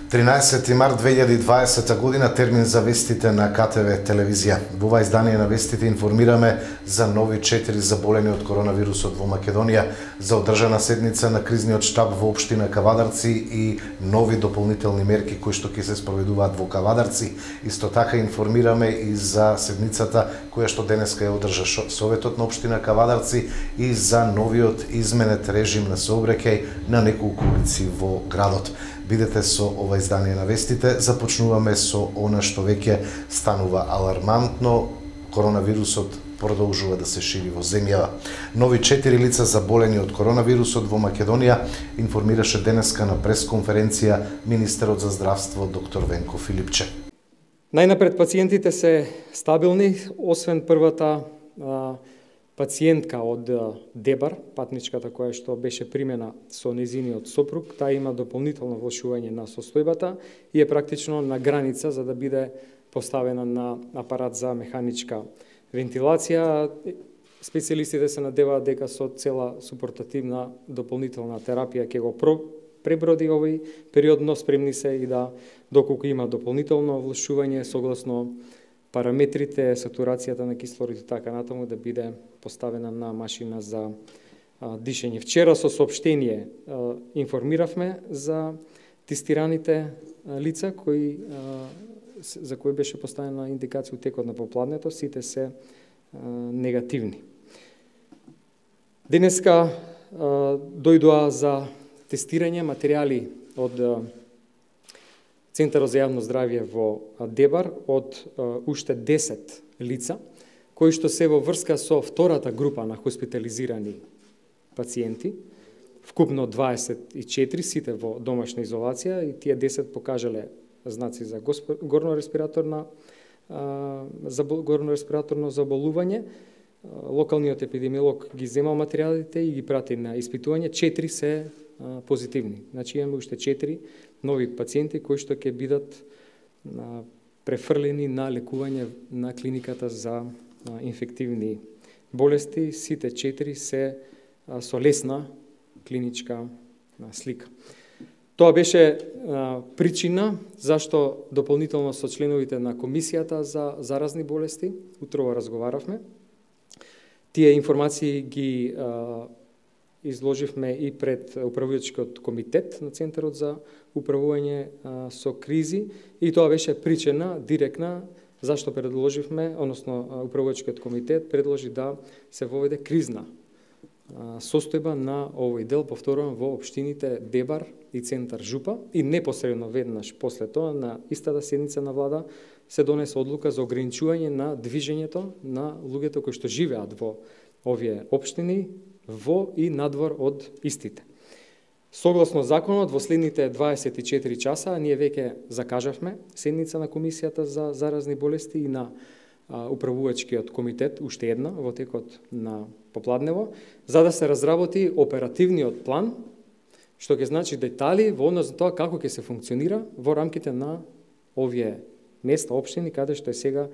13 март 2020 година, термин за вестите на КТВ телевизија. Во ова издание на вестите информираме за нови 4 заболени од коронавирусот во Македонија, за одржана седница на кризниот штаб во општина Кавадарци и нови дополнителни мерки кои што ќе се спроведуваат во Кавадарци. Исто така информираме и за седницата која што денеска ја одржа Советот на општина Кавадарци и за новиот изменет режим на сообраќај на неколку улици во градот. Бидете со ова издание на вестите, започнуваме со она што веќе станува алармантно. Коронавирусот продолжува да се шири во земјава. Нови 4 лица заболени од коронавирусот во Македонија информираше денеска на пресконференција министерот за здравство доктор Венко Филипче. Најнапред пациентите се стабилни, освен првата пациентка од Дебар, патничката која што беше примена со незиниот сопруг, таа има дополнително влошување на состојбата и е практично на граница за да биде поставена на апарат за механичка вентилација. Специјалистите се надеваат дека со цела супортативна дополнителна терапија ќе го преброди овој период, но спремни се и да, доколку има дополнително влошување согласно параметрите, сатурацијата на кислород и така натаму, да биде поставена на машина за дишење. Вчера со соопштение информиравме за тестираните лица за кои беше поставена индикација у текот на попладнето, сите се негативни. Денеска дојдоа за тестирање материјали од Центарот за јавно здравје во Дебар од уште 10 лица, кои што се во врска со втората група на хоспитализирани пациенти, вкупно 24, сите во домашна изолација, и тие 10 покажале знаци за горно респираторно заболување. Локалниот епидемиолог ги земал материјалите и ги прати на испитување. 4 се позитивни. Значи имаме уште 4 нови пациенти кои што ќе бидат префрлени на лекување на клиниката за инфективни болести. Сите 4 се со лесна клиничка слика. Тоа беше причина зашто дополнително со членовите на комисијата за заразни болести утрово разговаравме. Тие информации ги изложивме и пред управувачкиот комитет на Центарот за управување со кризи, и тоа беше причина директна зашто предложивме, односно управувачкиот комитет предложи да се воведе кризна состојба на овој дел, повторувам, во општините Дебар и Центар Жупа, и непосредно веднаш после тоа на истата седница на влада се донесе одлука за ограничување на движењето на луѓето кои што живеат во овие општини, во и надвор од истите. Согласно законот, во следните 24 часа ние веќе закажавме седница на комисијата за заразни болести и на управувачкиот комитет, уште една во текот на попладнево, за да се разработи оперативниот план, што ќе значи детали во однос на тоа како ќе се функционира во рамките на овие места, општини, каде што е сега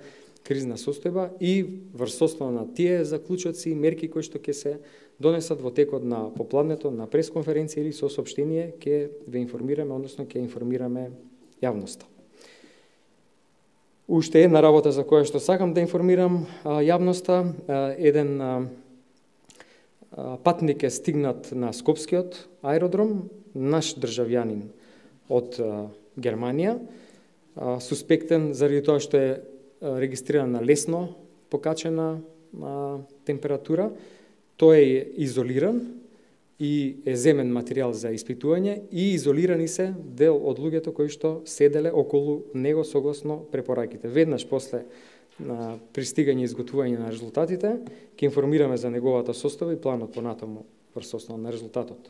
кризна состојба, и врз основа на тие заклучоци и мерки кои што ќе се донесат во текот на попладнето, на пресконференција или со соопштение, ќе ве информираме, односно ќе информираме јавноста. Уште една работа за која што сакам да информирам јавноста. Еден патник е стигнат на Скопскиот аеродром, наш државјанин од Германија, суспектен заради тоа што е регистриран на лесно покачена температура. Тој е изолиран и е земен материјал за испитување, и изолирани се дел од луѓето кои што седеле околу него согласно препораките. Веднаш после пристигање и изготвување на резултатите, ќе информираме за неговата состојба и планот понатаму врз основа на резултатот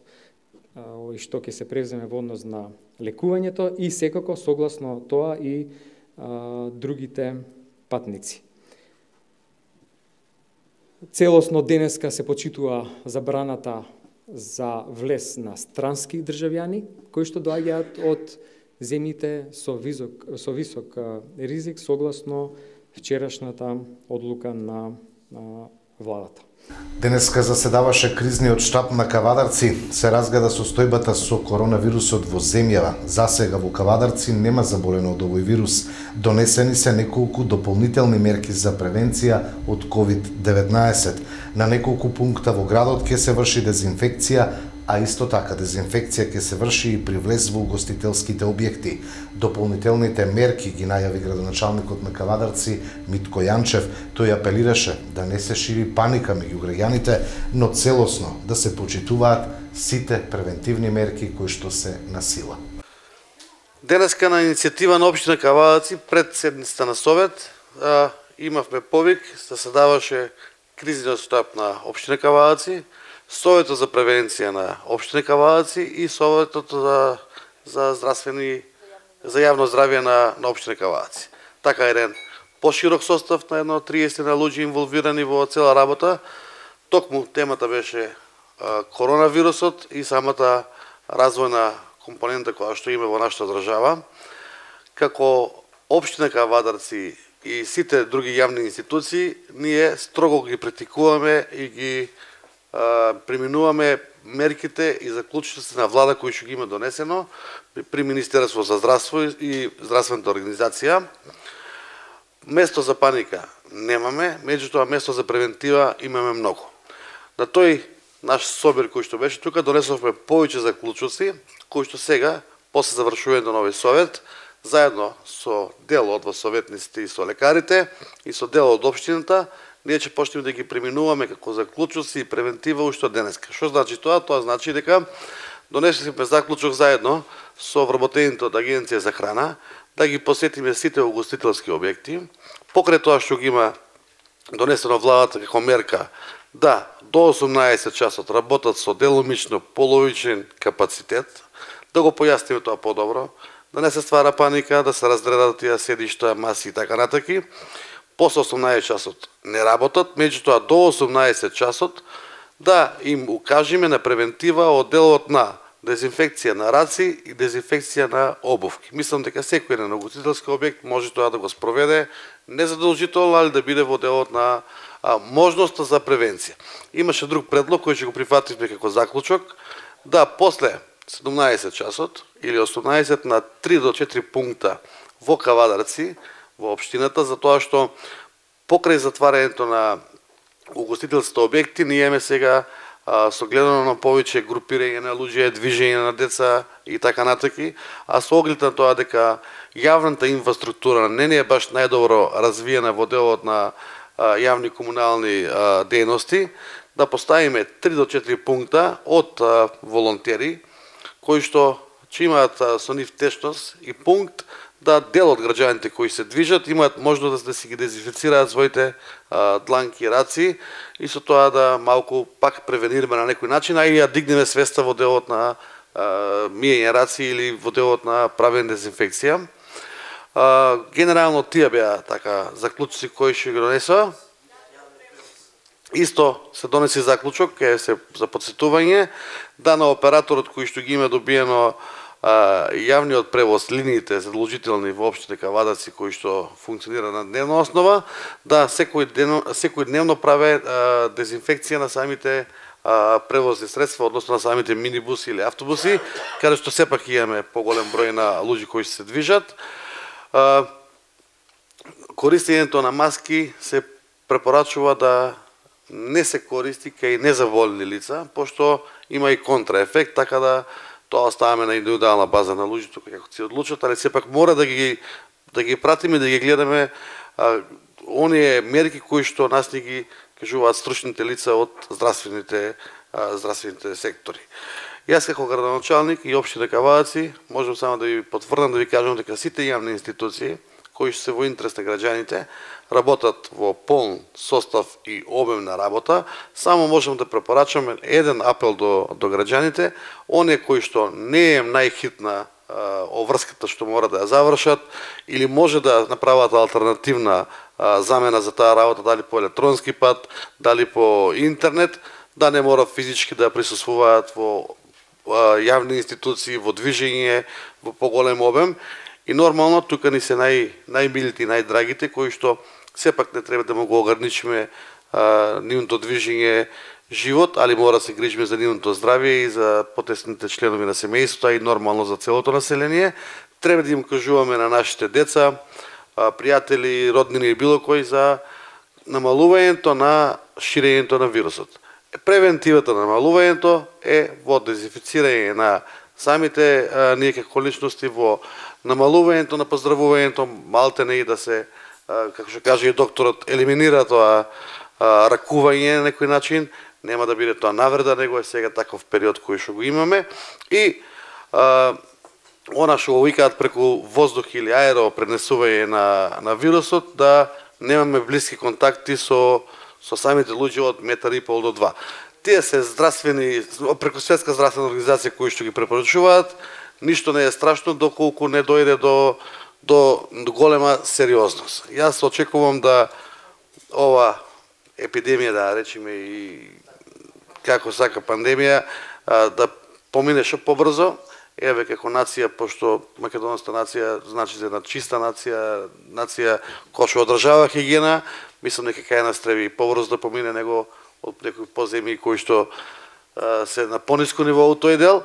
и што ќе се превземе во однос на лекувањето, и секако согласно тоа и другите патници. Целосно денеска се почитува забраната за влез на странски државјани кои што доаѓаат од земјите со висок ризик согласно вчерашната одлука на владата. Денеска заседаваше кризниот штаб на Кавадарци. Се разгледа состојбата со коронавирусот во земјава. Засега во Кавадарци нема заболено од овој вирус. Донесени се неколку дополнителни мерки за превенција од COVID-19. На неколку пункта во градот ќе се врши дезинфекција, а исто така дезинфекција ќе се врши и при влез во угостителските објекти. Дополнителните мерки ги најави градоначалникот на Кавадарци Митко Јанчев. Тој апелираше да не се шири паника меѓу граѓаните, но целосно да се почитуваат сите превентивни мерки кои што се на сила. Денеска на иницијатива на општина Кавадарци пред седницата на совет имавме повик, заседаваше кризниот штаб на општина Кавадарци, Советот за превенција на општина Кавадарци и Советот за јавно здравје на општина Кавадарци. Така еден поширок состав на едно 30 на луѓе инволвирани во цела работа. Токму темата беше коронавирусот и самата развојна компонента која што има во нашата држава. Како општина Кавадарци и сите други јавни институции, ние строго ги практикуваме и ги преминуваме мерките и заклучоците на влада кои што ги има донесено при Министерство за здравство и здравствената организација. Место за паника немаме, меѓутоа место за превентива имаме многу. На тој наш собир кој што беше тука донесовме повеќе заклучоци кои што сега после завршувањето на овој совет заедно со дел од советниците и со лекарите и со дел од општината ние ќе почнеме да ги преминуваме како заклучоци и превентива уште од денеска. Што значи тоа? Тоа значи дека донесовме заклучок заедно со вработените од Агенција за храна да ги посетиме сите угостителски објекти, покрај тоа што ги има донесено владата како мерка да до 18 часот работат со деломично половичен капацитет, да го појасниме тоа подобро, да не се ствара паника, да се раздредат тие седишта, маси и така натаки. После 18 часот не работат, меѓутоа до 18 часот да им укажеме на превентива од делот на дезинфекција на раци и дезинфекција на обувки. Мислам дека секој на угостителски објект може тоа да го спроведе, незадолжително, али да биде во делот на можноста за превенција. Имаше друг предлог кој ќе го прифативме како заклучок, да после 17 часот или 18 на 3 до 4 пункта во Кавадарци, во општината, за тоа што покрај затварањето на угостителските објекти, ние имаме сега согледано на повеќе групирање на луѓе, движење на деца и така натаки, а со оглед на тоа дека јавната инфраструктура не е баш најдобро развиена во делот на јавни комунални дејности, да поставиме 3 до 4 пункта од волонтери кои што ќе имаат со нив течност и пункт да дел од граѓаните кои се движат имаат можност да си ги дезинфицираат своите дланки и раци и со тоа да малку пак превенираме на некој начин, а и ја дигнеме свеста во делот на миење раци или во делот на правење дезинфекција. Генерално тие беа така заклучоци кои што ги донесоа. Исто се донеси заклучок за подсетување да на операторот кој што ги има добиено јавниот превоз, линиите задолжителни во општина Кавадарци кои што функционира на дневна основа, да секојдневно праве дезинфекција на самите превозни средства, односно на самите минибуси или автобуси, каде што сепак имаме поголем број на луѓе кои се движат. Користењето на маски се препорачува да не се користи кај незаболени лица, пошто има и контраефект, така да тоа оставаме на индивидуална база на луѓето како се одлучат, али сепак мора да ги пратиме, да ги гледаме оние мерки кои што нас ни ги кажуваат стручните лица од здравствените сектори. Јас како градоначалник и општина Кавадарци можам само да ви потврдам, да ви кажам дека сите јавни институции кои се во интерес на граѓаните работат во полн состав и обем на работа. Само можам да препорачам еден апел до граѓаните, оние кои што не е најхитна обврската што мора да ја завршат или може да направат алтернативна замена за таа работа, дали по електронски пат, дали по интернет, да не мора физички да присуствуваат во јавни институции, во движење, во поголем обем. И нормално тука ни се најмилите и најдрагите кои што сепак не треба да му го ограничиме нивното движење живот, али мора да се грижиме за нивното здравје и за потесните членови на семејството, и нормално за целото население. Треба да им кажуваме на нашите деца, пријатели, роднини и било кој за намалувањето на ширењето на вирусот. Превентивата на намалувањето е во дезинфицирање на самите ние како личности, во намалувањето на поздравувањето, малте не и да се, како што каже и докторот, елиминира тоа ракување на некој начин, нема да биде тоа навреда, него е сега таков период кој што го имаме. И она што го викаат преку воздух или аеро пренесување на вирусот, да немаме блиски контакти со самите луѓе од 1,5 до 2. Тие се здравствени, преку Светска здравствена организација кои што ги препорачуваат, ништо не е страшно доколку не дојде до голема сериозност. Јас очекувам да ова епидемија, да речеме и како сака пандемија, да помине што побрзо. Еве како нација, пошто македонската нација значи една чиста нација, нација која што одржава хигиена, мислам дека кај нас треба и побрзо да помине него од некои поземји кои што се на пониско ниво од тој дел.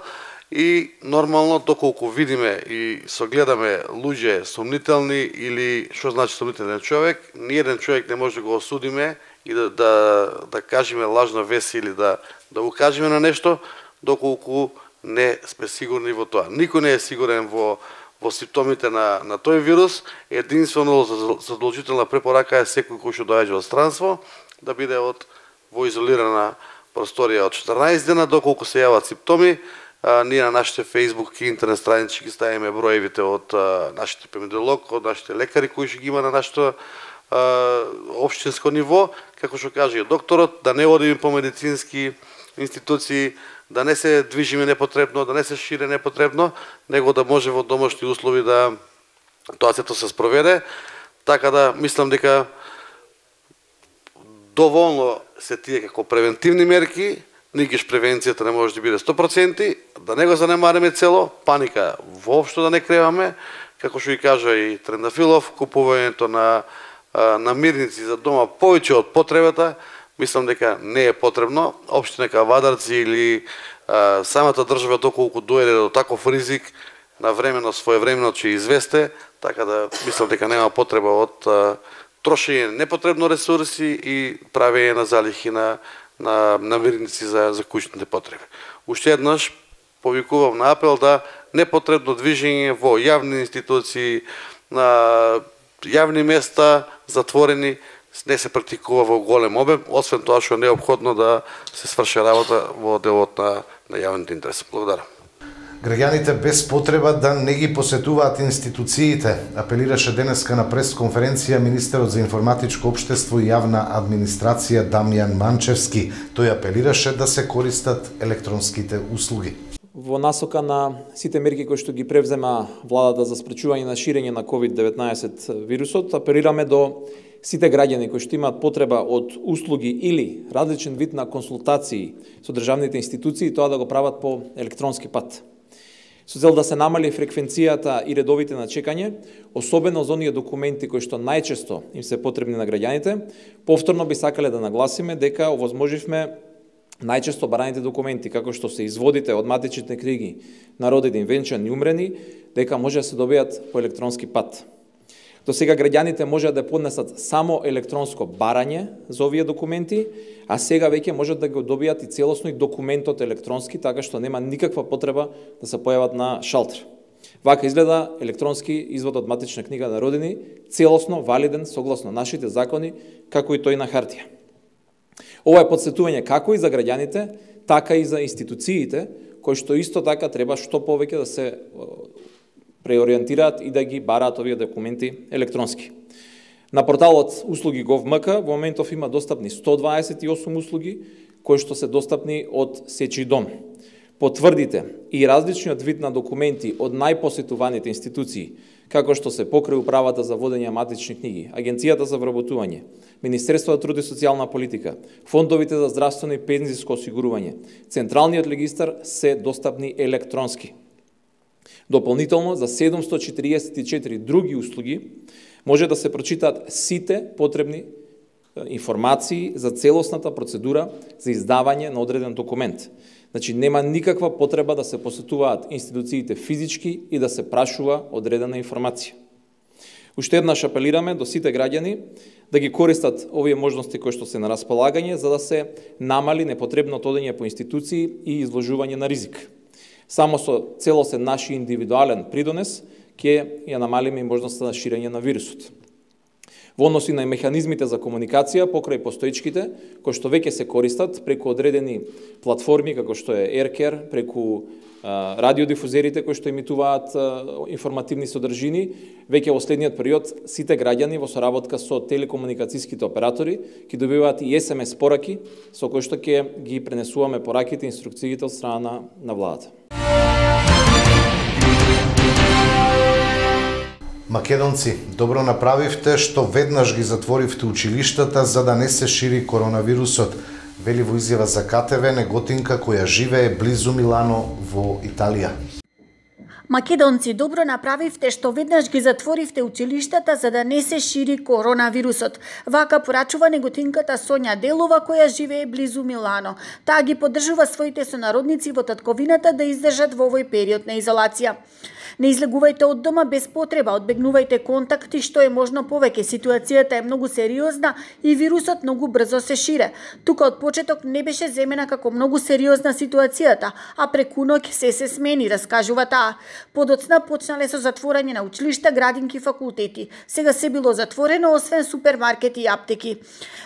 И нормално, доколку видиме и согледаме луѓе сомнителни или што значи сомнителен човек, ниеден човек не може да го осудиме и да кажеме лажна вест или да укажеме на нешто, доколку не сме сигурни во тоа. Никој не е сигурен во симптомите на тој вирус. Единствено задолжителна препорака е секој кој што доаѓа од странство да биде во изолирана просторија од 14 дена, доколку се јават симптоми. Ние на нашите Facebook и интернет страници ги ставиме броевите од нашите епидемиолог, од нашите лекари кои што ги има на нашето општинско ниво, како што каже докторот, да не одиме по медицински институции, да не се движиме непотребно, да не се шире непотребно, него да може во домашни услови да тоа сето се спроведе. Така да мислам дека доволно се тие како превентивни мерки, никеш превенцијата не може да биде 100%, да не го занемариме цело, паника воопшто да не креваме, како што и кажа и Трендафилов, купувањето на мирници за дома повеќе од потребата, мислам дека не е потребно. Општина Кавадарци или самата држава доколку дојде до таков ризик, навремено, своевремено ќе известе, така да мислам дека нема потреба од трошење непотребно ресурси и правење на залихи на мирници за куќните потреби. Уште еднаш повикувам на апел да непотребно движење во јавни институции, на јавни места затворени не се практикува во голем обем, освен тоа што е неопходно да се сврши работа во делот на јавните интереси. Благодарам. Граѓаните без потреба да не ги посетуваат институциите, апелираше денеска на пресконференција министерот за информатичко општество и јавна администрација Дамјан Манчевски. Тој апелираше да се користат електронските услуги. Во насока на сите мерки кои што ги превзема владата за спречување на ширење на COVID-19 вирусот, апелираме до сите граѓани кои што имаат потреба од услуги или различен вид на консултации со државните институции, тоа да го прават по електронски пат. Со цел да се намали фреквенцијата и редовите на чекање, особено за оние документи кои што најчесто им се потребни на граѓаните, повторно би сакале да нагласиме дека овозможивме најчесто бараните документи, како што се изводите од матичните книги на родени, венчани и умрени, дека може да се добијат по електронски пат. До сега граѓаните може да поднесат само електронско барање за овие документи, а сега веќе можат да го добијат и целосно и документот електронски, така што нема никаква потреба да се појават на шалтер. Вака изгледа електронски извод од матична книга на родени, целосно валиден согласно нашите закони, како и тој на хартија. Ова е подсетување како и за граѓаните, така и за институциите, кои што исто така треба што повеќе да се преориентираат и да ги бараат овие документи електронски. На порталот услуги Gov.mk во моментов има достапни 128 услуги, кои што се достапни од сечи дом. Потврдите и различниот вид на документи од најпосетуваните институции, како што се покрај управата за водење матични книги, Агенцијата за вработување, Министерството за труд и социјална политика, фондовите за здравствено и пензиско осигурување, Централниот регистар се достапни електронски. Дополнително, за 744 други услуги може да се прочитаат сите потребни информации за целосната процедура за издавање на одреден документ. Значи, нема никаква потреба да се посетуваат институциите физички и да се прашува одредена информација. Уште еднаш апелираме до сите граѓани да ги користат овие можности кои што се на располагање за да се намали непотребното одење по институции и изложување на ризик. Само со целосен наш индивидуален придонес ќе ја намалиме и можноста на ширење на вирусот. Во односи на механизмите за комуникација покрај постоечките, кои што веќе се користат преку одредени платформи, како што е Aircare, преку радиодифузерите кои што емитуваат информативни содржини, веќе во следниот период сите граѓани во соработка со телекомуникацијските оператори ќе добиваат и SMS пораки со кои што ќе ги пренесуваме пораките и инструкциите од страна на владата. Македонци, добро направивте што веднаш ги затворивте училиштата за да не се шири коронавирусот, вели во изјава за КТВ неготинка која живее близу Милано во Италија. Македонци, добро направивте што веднаш ги затворивте училиштата за да не се шири коронавирусот. Вака порачува неготинката Сонја Делова која живее близу Милано. Таа ги поддржува своите сонародници во татковината да издржат во овој период на изолација. Не излегувајте од дома без потреба, одбегнувајте контакти што е можно повеќе. Ситуацијата е многу сериозна и вирусот многу брзо се шире. Тука од почеток не беше земена како многу сериозна ситуацијата, а преку ноќ се смени, раскажува таа. Подоцна почнале со затворање на училишта, градинки, факултети. Сега се било затворено освен супермаркети и аптеки.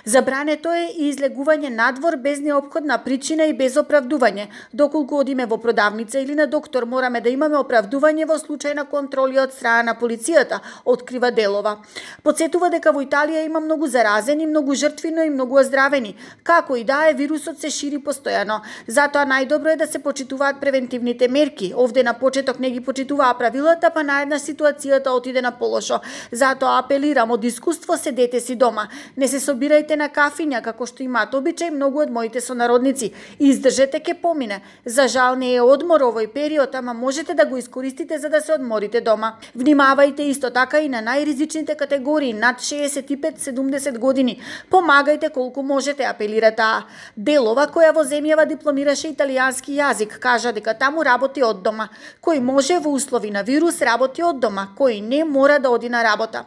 Забрането е и излегување надвор без неопходна причина и без оправдување. Доколку одиме во продавница или на доктор, мораме да имаме оправдување во случај на контроли од страна на полицијата, открива Делова. Подсетува дека во Италија има многу заразени, многу жртви, но и многу оздравени. Како и да е, вирусот се шири постојано. Затоа најдобро е да се почитуваат превентивните мерки. Овде на почеток не ги почитуваа правилата, па наеднаш ситуацијата отиде на полошо. Затоа апелирам, од искуство седете си дома. Не се собирајте на кафиња, како што имаат обичај многу од моите сонародници. Издржете, ке помине. За жал не е одмор овој период, ама можете да го искористите за да се одморите дома. Внимавајте исто така и на најризичните категории над 65-70 години. Помагајте колку можете, апелира таа. Делова, која во земјава дипломираше италијански јазик, кажа дека таму работи од дома. Кој може во услови на вирус работи од дома, кој не мора да оди на работа.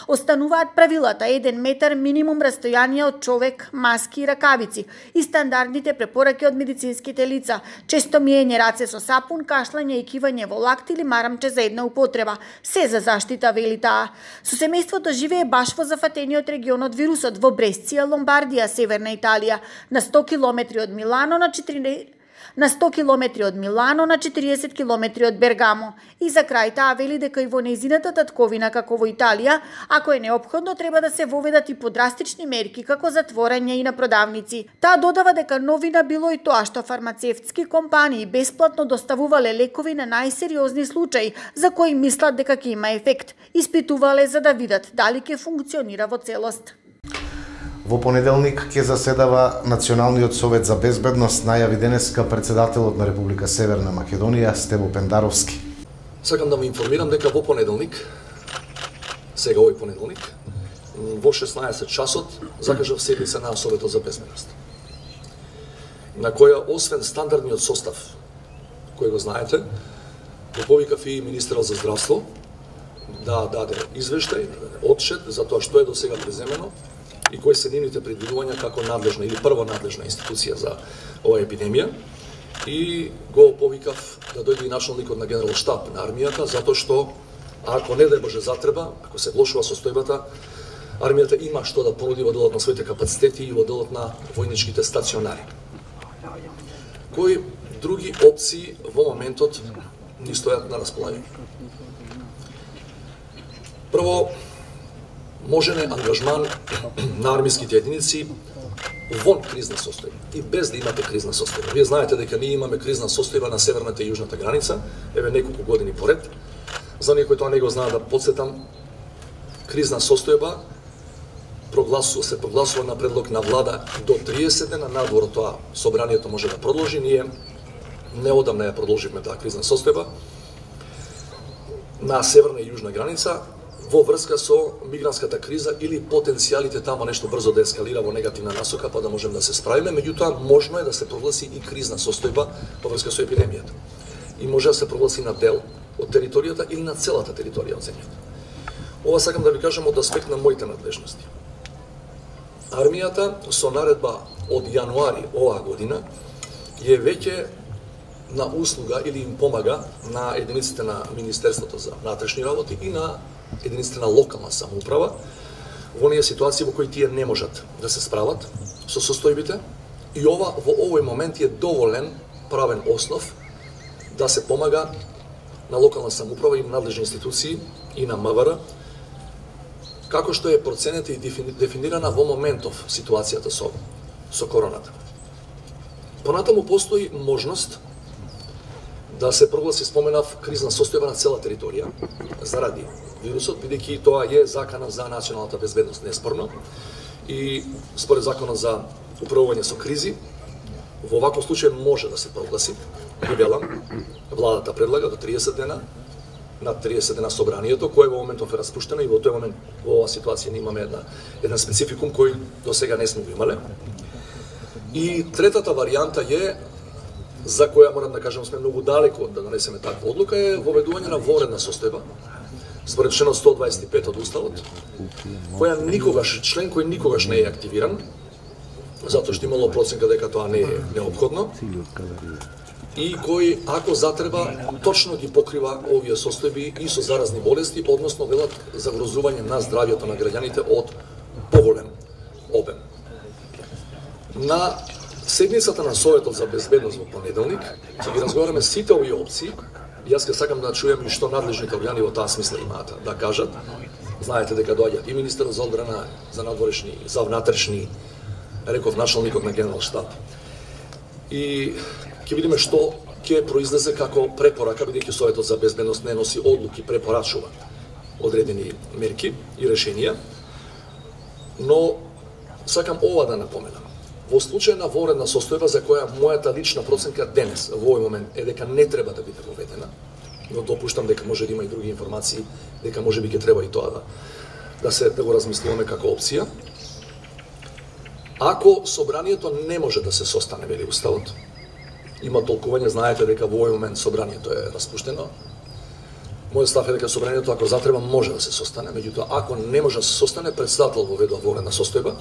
Остануваат правилата 1 метар минимум растојание од човек, маски и ракавици и стандардните препораки од медицинските лица, често миење раце со сапун, кашлање и кивање во лакт или марамче за една употреба. Се за заштита, вели таа. Со семејството живее баш во зафатениот регион од вирусот во Бресција, Ломбардија, Северна Италија, на 100 километри од Милано, на 100 километри од Милано, на 40 километри од Бергамо. И за крај таа вели дека и во нејзината татковина, како во Италија, ако е неопходно, треба да се воведат и подрастични мерки, како затворање и на продавници. Таа додава дека новина било и тоа што фармацевтски компании бесплатно доставувале лекови на најсериозни случаи, за кои мислат дека ќе има ефект. Испитувале за да видат дали ќе функционира во целост. Во понеделник ќе заседава Националниот совет за безбедност, најави денеска председателот на Република Северна Македонија Стево Пендаровски. Сакам да ме информирам дека во понеделник, сега овој понеделник, во 16 часот закажав седница на Советот за безбедност, на која освен стандардниот состав, кој го знаете, го повикав и министерот за здравство да даде извештај, отчет за тоа што е до сега преземено и кои се нивните предвидувања како надлежна или прва надлежна институција за оваа епидемија. И го повикав да дојде и началникот на генерал штаб на армијата, затоа што ако не дај Боже затреба, ако се влошува состојбата, армијата има што да понуди во делот на своите капацитети и во делот на војничките стационари. Кои други опции во моментот ни стојат на располагање? Прво, можен е ангажман на армиските единици вон кризна состојба и без да имате кризна состојба. Вие знаете дека ние имаме кризна состојба на северната и јужната граница, еве неколку години поред. За оние кои тоа не го знаат, да потсетам, кризна состојба се прогласува на предлог на влада до 30 дена, надвор од тоа собранието може да продолжи. Ние неодамна ја продолживме таа кризна состојба на северна и јужна граница. во врска со мигрантската криза или потенцијалите тамо нешто брзо да ескалира во негативна насока, па да можеме да се справиме, меѓутоа можно е да се прогласи и кризна состојба во врска со епидемијата. И може да се прогласи на дел од територијата или на целата територија од земјата. Ова сакам да ви кажам од аспект на моите надлежности. Армијата со наредба од јануари оваа година е веќе на услуга или им помага на единиците на Министерството за внатрешни работи и на единиците на локална самоуправа во оние ситуации во кои тие не можат да се справат со состојбите, и ова во овој момент е доволен правен основ да се помага на локална самоуправа и надлежни институции и на МВР, како што е проценета и дефинирана во моментов ситуацијата со короната. Понатаму постои можност да се прогласи, споменав, кризна состојба на цела територија заради вирусот, бидејќи тоа е закана за националната безбедност, неспорно, и според законот за управување со кризи, во ваков случај може да се прогласи. И велам, владата предлага до 30 дена, над 30 дена собранието, кое во моментов е распуштено, и во тој момент во оваа ситуација не имаме еден спецификум кој до сега не сме го имале. И третата варијанта е, за која морам да кажам сме многу далеко да донесеме таква одлука, е воведување на воредна состојба според членот 125 од Уставот, која никогаш, член кој никогаш не е активиран, затоа што имало проценка дека тоа не е неопходно, и кој, ако затреба, точно ги покрива овие состојби и со заразни болести, односно велат загрозување на здравјето на граѓаните од поголем обем. На седницата на Советот за безбедност во понеделник ќе ги разговараме сите овие опции. Јас ке сакам да чуjem и што надлежните органи во таа смисла имаат да кажат. Знаете дека доаѓа и министерот за одбрана, за надворешни, за внатрешни, реков началникот на генерал штаб. И ќе видиме што ќе произлезе како препорака, бидејќи Советот за безбедност не носи одлуки, препорачува одредени мерки и решенија. Но сакам ова да напоменам. Во случај на воредна состојба за која мојата лична проценка денес, во овој момент, е дека не треба да биде воведена, но допуштам дека може да има и други информации, дека може би ќе треба и тоа да го размислуваме како опција. Ако собранието не може да се состане, вели Уставот, има толкување, знаете дека во овој момент собранието е распуштено. Мојот став е дека собранието, ако затреба, може да се состане, меѓутоа ако не може да се состане, председател воведува воредна состојба.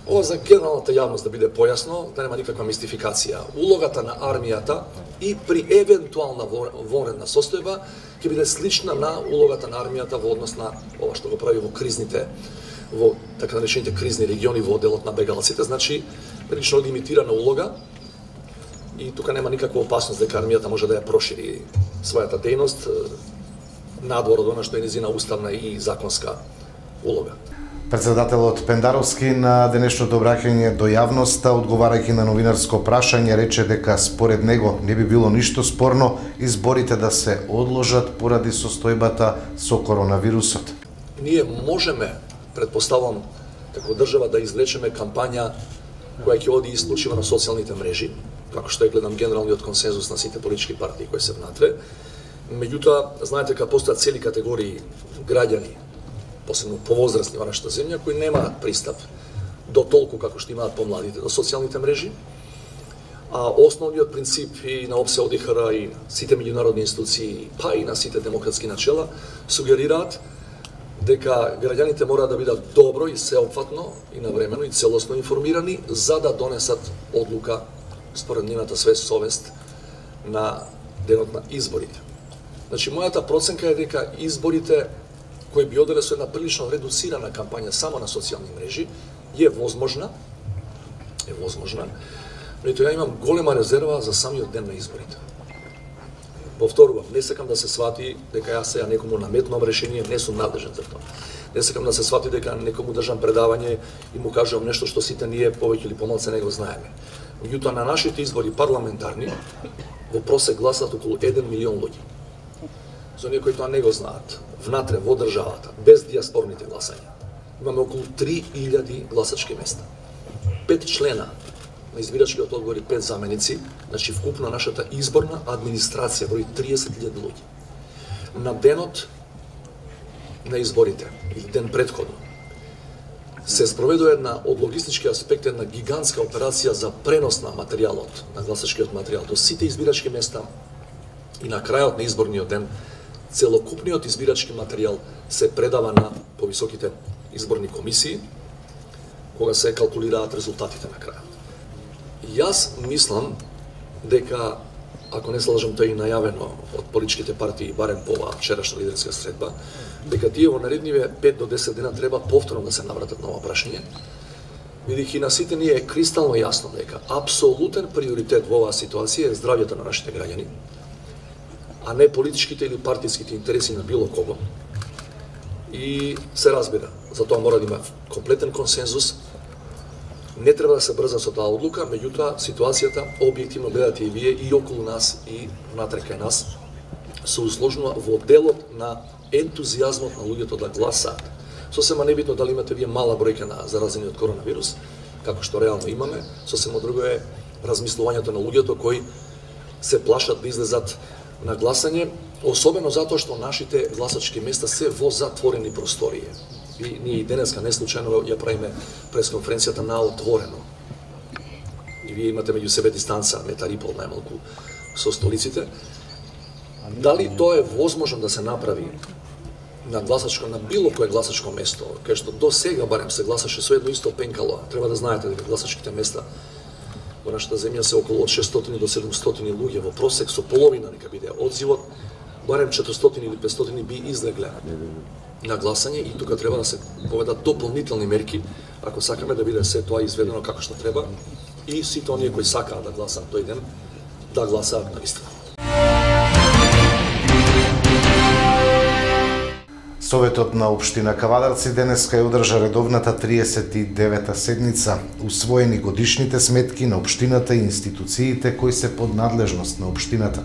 Ова за генералната јавност да биде појасно, да нема никаква мистификација. Улогата на армијата и при евентуална воредна состојба ќе биде слична на улогата на армијата во однос на ова што го прави во кризните, во така наречените кризни региони во делот на бегалците, значи прилично лимитирана улога, и тука нема никаква опасност дека армијата може да ја прошири својата дејност надвор од она што е незина уставна и законска улога. Председателот Пендаровски на денешното обраќање до јавноста, одговарајќи на новинарско прашање, рече дека според него не би било ништо спорно изборите да се одложат поради состојбата со коронавирусот. Ние можеме, предпоставам, како држава да извлечеме кампања која ќе оди исклучиво на социјалните мрежи, како што е гледам генералниот консензус на сите политички партии кои се внатре. Меѓутоа, знаете дека постојат цели категории граѓани, посебно повозрастни во нашата земја, кои немаат пристап до толку како што имаат помладите до социјалните мрежи. А основниот принцип и на ОПСЕ, ОДИХР и сите меѓународни институции, па и на сите демократски начела, сугерираат дека граѓаните мора да бидат добро и сеопфатно и навремено и целосно информирани за да донесат одлука според нивната совест на денот на изборите. Значи, мојата проценка е дека изборите кој би оделе со една прилично редуцирана кампања само на социјални мрежи, е возможна, но ја имам голема резерва за самиот ден на изборите. Повторувам, не сакам да се свати дека јас сега некому наметнувам решение, не сум надлежен за тоа. Не сакам да се свати дека некому држам предавање и му кажувам нешто што сите ние повеќе или помалку не го знаеме. Меѓутоа, на нашите избори парламентарни во просек гласат околу 1 милион луѓе. За оние кои тоа не го знаат, внатре во државата, без диаспорните гласања, имаме околу 3000 гласачки места. 5 члена на избирачкиот одбор и 5 заменици, значи вкупно нашата изборна администрација брои 30.000 луѓе. На денот на изборите, или ден претходно, се спроведува една од логистички аспект една гигантска операција за пренос на материјалот, на гласачкиот материјал до сите избирачки места и на крајот на изборниот ден целокупниот избирачки материјал се предава на повисоките изборни комисии кога се калкулираат резултатите на крајот. Јас мислам дека, ако не се лажам, тоа е најавено од политичките партии, барем по оваа вчерашна лидерска средба, дека тие во наредниве 5 до 10 дена треба повторно да се навратат на ова прашање, бидејќи на сите ние е кристално јасно дека апсолутен приоритет во оваа ситуација е здравјето на нашите граѓани, а не политичките или партиските интереси на било кого. И се разбира, за тоа мора да има комплетен консензус. Не треба да се брза со таа одлука, меѓутоа ситуацијата објективно гледате и вие и околу нас и внатре кај нас се усложнува во делот на ентузијазмот на луѓето да гласаат. Сосема небитно дали имате вие мала бројка на заразени од коронавирус, како што реално имаме, сосема друго е размислувањето на луѓето кои се плашат да излезат на гласање, особено затоа што нашите гласачки места се во затворени простории. И ние и денеска не случајно ја правиме пресконференцијата на отворено. И вие имате меѓу себе дистанца, метар и пол најмалку со столиците. Дали тоа е возможно да се направи на гласачко, на било кое гласачко место, кај што до сега барем се гласаше со едно исто пенкало. Треба да знаете дека гласачките места во нашата земја се околу од 600 до 700 луѓе во просек, со половина нека биде одзивот, барем 400 или 500 би излегле на гласање и тука треба да се поведат дополнителни мерки ако сакаме да биде се тоа изведено како што треба и сите оние кои сакаат да гласаат тој ден да гласаат навистина. Советот на општина Кавадарци денеска ја одржа редовната 39-та седница. Усвоени годишните сметки на општината и институциите кои се под надлежност на општината.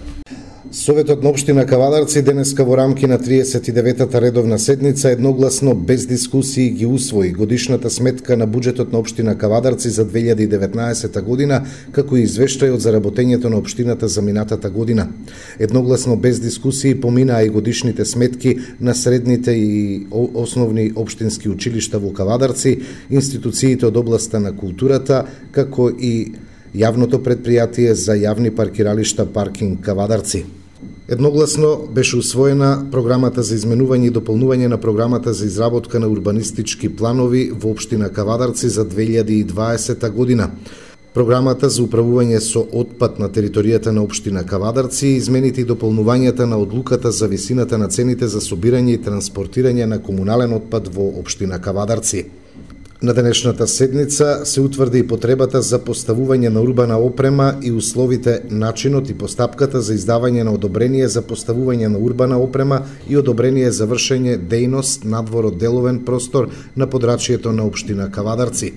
Советот на општина Кавадарци денеска во рамки на 39-та редовна седница едногласно без дискусии ги усвои годишната сметка на буџетот на општина Кавадарци за 2019 година, како и извештајот за работењето на општината за минатата година. Едногласно без дискусии поминаа и годишните сметки на средните и основни општински училишта во Кавадарци, институциите од областа на културата, како и јавното предпријатие за јавни паркиралишта Паркинг Кавадарци. Едногласно беше усвоена програмата за изменување и дополнување на програмата за изработка на урбанистички планови во општина Кавадарци за 2020 година. Програмата за управување со отпад на територијата на општина Кавадарци и измените и дополнувањата на одлуката за висината на цените за собирање и транспортирање на комунален отпад во општина Кавадарци. На денешната седница се утврди и потребата за поставување на урбана опрема и условите, начинот и постапката за издавање на одобрение за поставување на урбана опрема и одобрение за вршење дејност надвор од деловен простор на подрачјето на општина Кавадарци.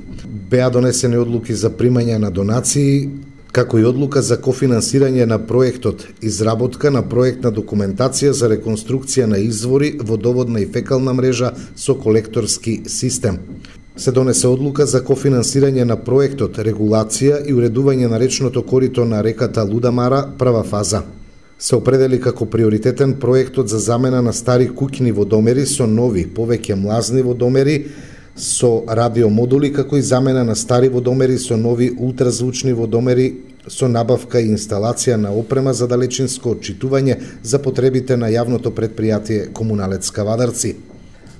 Беа донесени одлуки за примање на донации, како и одлука за кофинансирање на проектот, изработка на проектна документација за реконструкција на извори, водоводна и фекална мрежа со колекторски систем. Се донесе одлука за кофинансирање на проектот, регулација и уредување на речното корито на реката Лудамара, прва фаза. Се определи како приоритетен проектот за замена на стари куќни водомери со нови, повеќе млазни водомери со радиомодули, како и замена на стари водомери со нови ултразвучни водомери со набавка и инсталација на опрема за далечинско отчитување за потребите на јавното предпријатие Комуналец Кавадарци.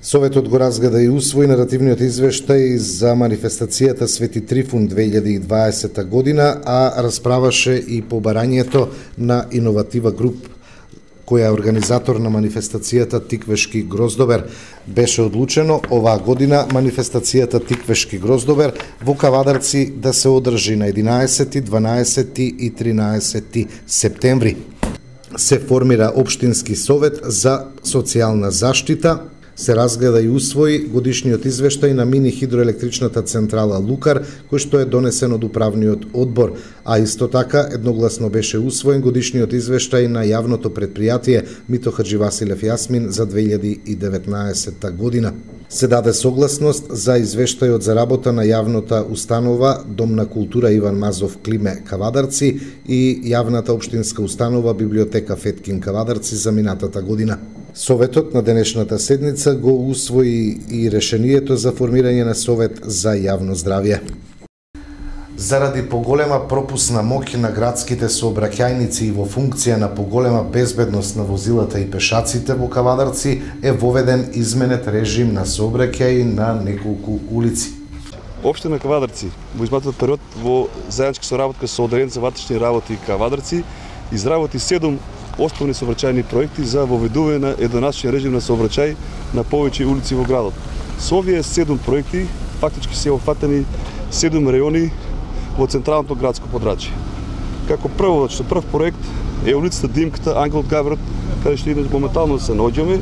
Советот го разгледа и усвои наративниот извештај за манифестацијата Свети Трифун 2020 година, а расправаше и по барањето на Иноватива груп, која е организатор на манифестацијата Тиквешки Гроздобер. Беше одлучено оваа година манифестацијата Тиквешки Гроздобер во Кавадарци да се одржи на 11, 12 и 13 септември. Се формира Општински совет за социјална заштита. Се разгледа и усвои годишниот извештај на мини хидроелектричната централа Лукар, кој што е донесен од управниот одбор, а исто така едногласно беше усвоен годишниот извештај на јавното предпријатие Мито Хаджи Василев Јасмин за 2019 година. Се даде согласност за извештајот за работа на јавната установа Дом на култура Иван Мазов Климе Кавадарци и јавната општинска установа Библиотека Феткин Кавадарци за минатата година. Советот на денешната седница го усвои и решението за формирање на Совет за јавно здравје. Заради поголема пропусна моќ на градските сообраќајници и во функција на поголема безбедност на возилата и пешаците во Кавадарци е воведен изменет режим на сообраќај на неколку улици. Општина Кавадарци во изминатиот период во заедничка соработка со Одделението за ватрешни работи Кавадарци изработи 7 основни сообраќајни проекти за воведување на еднонасочен режим на сообраќај на повеќе улици во градот. Со овие 7 проекти фактички се опфатени 7 рајони во централното градско подрачје. Како прв проект е улицата Димката, Ангел од Габрат, каде што моментално се наоѓаме.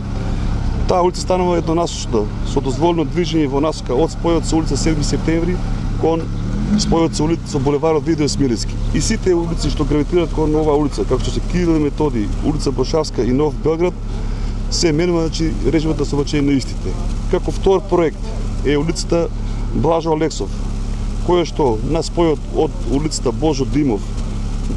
Таа улица станува еднонасочна со дозволено движење во насока од спојот со улица 7 септември кон спојот со булеварот Видој Смилевски. И сите улици што гравитираат кон оваа улица, како што се Кирил и Методи, улица Брошавска и Нов Белград, се менува режимот на сообраќај на истите. Како втор проект е улицата Блажо Алексов, која што на спојот од улицата Божо Димов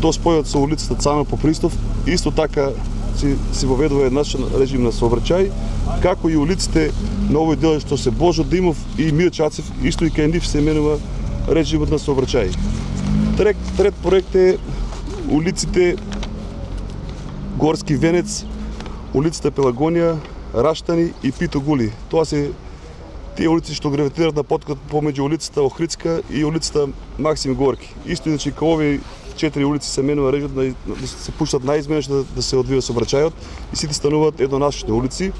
до спојот со улицата Цана Попристов, исто така се воведува еднашен режим на сообраќај, како и улиците на овој дел што се Божо Димов и Мирчацев, исто и кај нив се менува режимот на сообраќај. Трет проект е улиците Горски Венец, улицата Пелагонија, Раштани и Питогули. Тоа се тие улици што гравитираат на поткот помеѓу улицата Охридска и улицата Максим Горки. Исто иначе кај овие 4 улици се менува режимот да се пуштат наизменеш да се одвива сообраќајот и сите стануваат еднонасочни улици.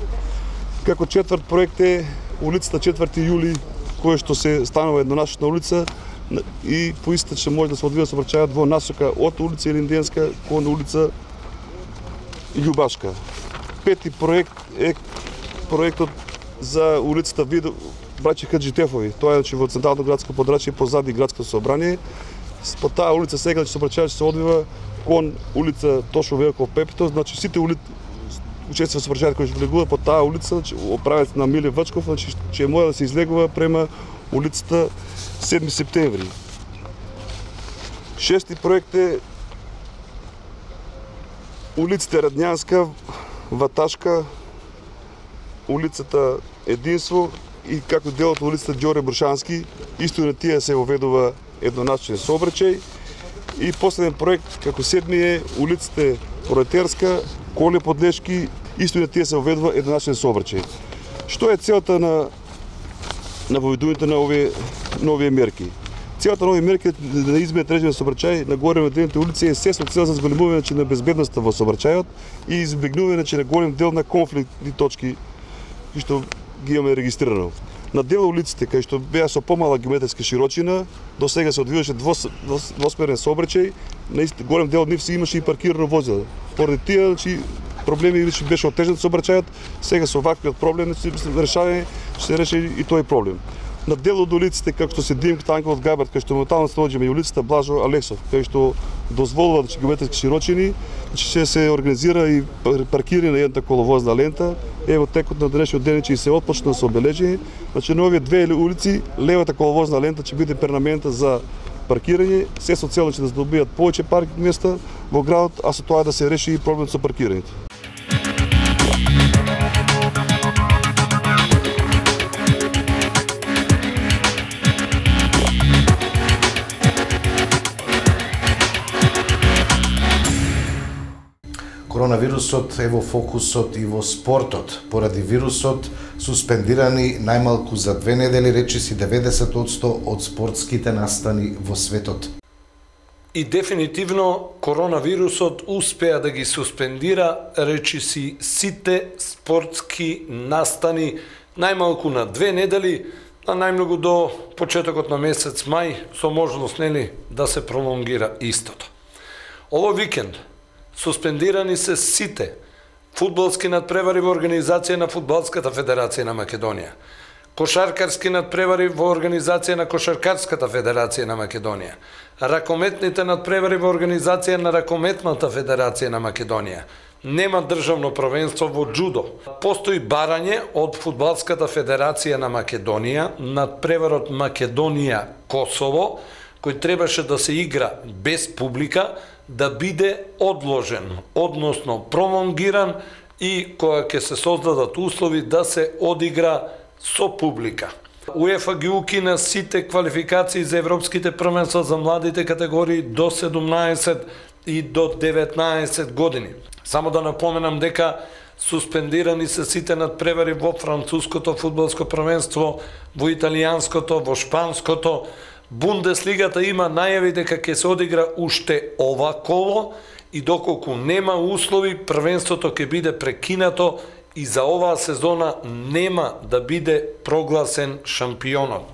Како четврт проект е улицата 4 јули, која што се станува еднонасочна улица и по истата ќе може да се одвива сообраќајот во насока од улица Илинденска кон улица Љубашка. Пети проект е проектот за улицата Браќа Хаджитефови. Тоа е во централното градско подрачје позади градското собрание. По таа улица сега сообраќајот се одвива кон улица Тошо Велков Пепито, значи сите учества во сообраќајот кои ќе влегуваат по таа улица, оправец на Миле Вачков, значи ќе може да се излегува према улицата 7 септември. Шести проект е улиците Радњанска, Ваташка, улицата Единство и како дел од улицата Ѓоре Брушански, исто на тие се воведува еднонасочен сообраќај. И последен проект, како седми е улиците Пролетерска, Коле Подлешки, исто на тие се воведува еднонасочен сообраќај. Што е целта на воведувањето на овие мерки? Целата на овие мерки да изменат режим на сообраќај на горе наделените улици е се со цел за зголемување на безбедноста во сообраќајот и избегнување на голем дел на конфликтни точки кои што ги имаме регистрирано. На дел улиците кај што беа со помала геометриска широчина, до сега се одвиваше двосмерен сообраќај, на голем дел од нив се имаше и паркирано возило. Поради тие проблеми беше отежнат сообраќајот, сега со ваквиот проблем се решава, ќе се реши и тој проблем. На дел од улиците како што се Димката, Ангел од Габрат, кај што моментално се наоѓаме и улицата Блажо Алексов, кај што дозволува геометриски широчини, ќе се организира и паркирање на едната коловозна лента. Ево текот на денешниот ден ќе се отпочна со обележување. Значи на овие две улици левата коловозна лента ќе биде перманентна за паркирање, се со цел да се добијат повеќе паркинг места во градот, а со тоа да се реши и проблемот со паркирањето. Коронавирусот е во фокусот и во спортот. Поради вирусот суспендирани најмалку за 2 недели речиси 90% од спортските настани во светот. И дефинитивно коронавирусот успеа да ги суспендира речиси сите спортски настани најмалку на 2 недели, а најмногу до почетокот на месец мај, со можност да се пролонгира истото. Ово викенд суспендирани се сите фудбалски надпревари во организација на Фудбалската федерација на Македонија, кошаркарски надпревари во организација на Кошаркарската федерација на Македонија, ракометните надпревари во организација на Ракометната федерација на Македонија. Нема државно првенство во џудо. Постои барање од Фудбалската федерација на Македонија надпреварот Македонија-Косово, кој требаше да се игра без публика, да биде одложен, односно пролонгиран и кога ќе се создадат услови да се одигра со публика. УЕФА ги укина сите квалификации за европските првенства за младите категории до 17 и до 19 години. Само да напоменам дека суспендирани се сите надпревари во француското фудбалско првенство, во италијанското, во шпанското. Бундеслигата има најави дека ќе се одигра уште ова коло и доколку нема услови, првенството ќе биде прекинато и за оваа сезона нема да биде прогласен шампионот.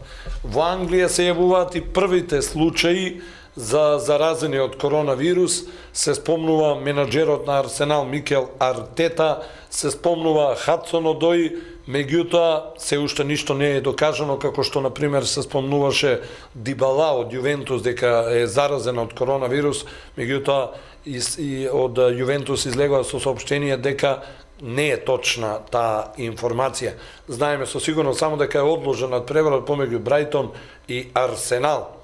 Во Англија се јавуваат и првите случаи за заразени од коронавирус, се спомнува менаџерот на Арсенал Микел Артета, се спомнува Хадсон Одои, меѓутоа се уште ништо не е докажано, како што на пример се спомнуваше Дибала од Јувентус дека е заразен од коронавирус, меѓутоа и од Јувентус излегува со соопштение дека не е точна таа информација. Знаеме со сигурно само дека е одложен надпреварот помеѓу Брајтон и Арсенал.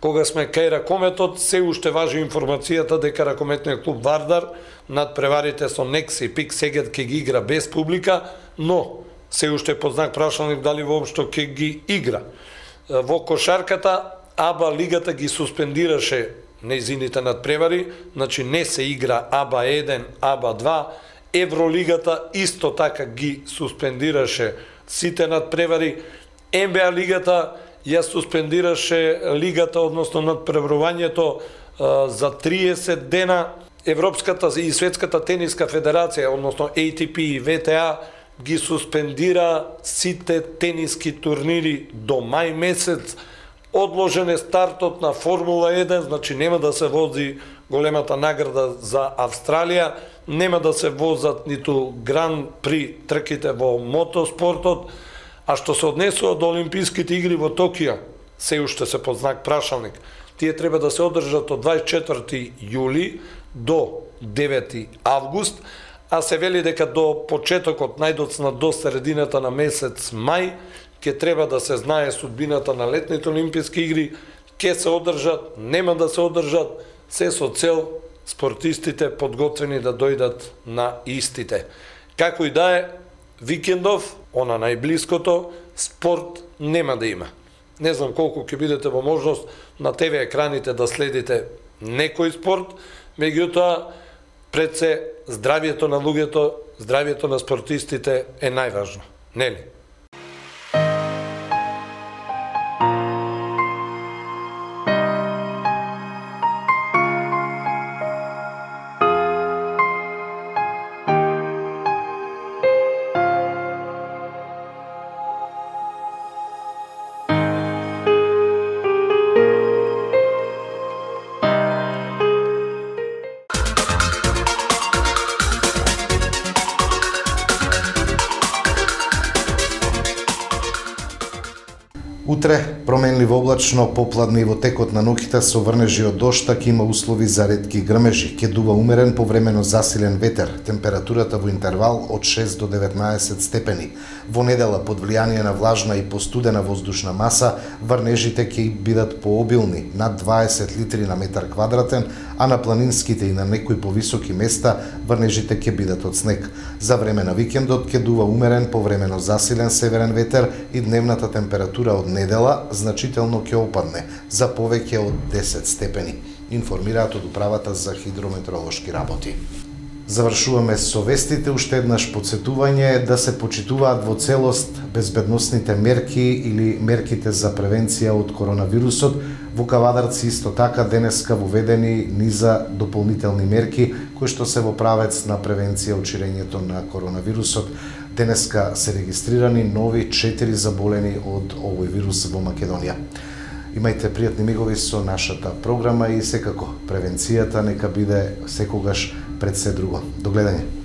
Кога сме кај ракометот, се уште важи информацијата дека ракометниот клуб Вардар надпреварите со Некс и Пик Сегед ќе ги игра без публика, но се уште под знак прашалник дали воопшто ќе ги игра. Во кошарката АБА лигата ги суспендираше нејзините надпревари, значи не се игра АБА 1, АБА 2, Евролигата исто така ги суспендираше сите надпревари, НБА лигата ја суспендираше лигата, односно надпреварувањето за 30 дена. Европската и Светската тениска федерација, односно ATP и ВТА, ги суспендира сите тениски турнири до мај месец. Одложен е стартот на Формула 1, значи нема да се вози големата награда за Австралија, нема да се возат ниту Гран При трките во мотоспортот, а што се однесува до Олимписките игри во Токио, се уште се под знак прашалник. Тие треба да се одржат од 24 јули до 9 август, а се вели дека до почетокот, најдоцна до средината на месец мај, ќе треба да се знае судбината на летните Олимписки игри, ќе се одржат, нема да се одржат, се со цел спортистите подготвени да дојдат на истите. Како и да е, викендов, она најблиското, спорт нема да има. Не знам колку ќе бидете во можност на ТВ екраните да следите некој спорт, меѓутоа пред се здравието на луѓето, здравието на спортистите е најважно, нели? Утре, променливо облачно, попладно и во текот на ноќта со врнежи од дошта, ќе има услови за ретки грмежи. Ќе дува умерен повремено засилен ветер. Температурата во интервал од 6 до 19 степени. Во недела, под влијание на влажна и постудена воздушна маса, врнежите ќе бидат пообилни, над 20 литри на метар квадратен, а на планинските и на некои повисоки места врнежите ќе бидат од снег. За време на викендот ќе дува умерен повремено засилен северен ветер и дневната температура од недела значително ќе опадне за повеќе од 10 степени, информираат од Управата за хидрометеоролошки работи. Завршуваме со вестите, уште еднаш подсетување да се почитуваат во целост безбедносните мерки или мерките за превенција од коронавирусот. Во Кавадарци исто така денеска воведени низа дополнителни мерки кои што се во правец на превенција од ширењето на коронавирусот. Денеска се регистрирани нови 4 заболени од овој вирус во Македонија. Имајте пријатни мигови со нашата програма и секако превенцијата нека биде секогаш пред се друго. До гледање.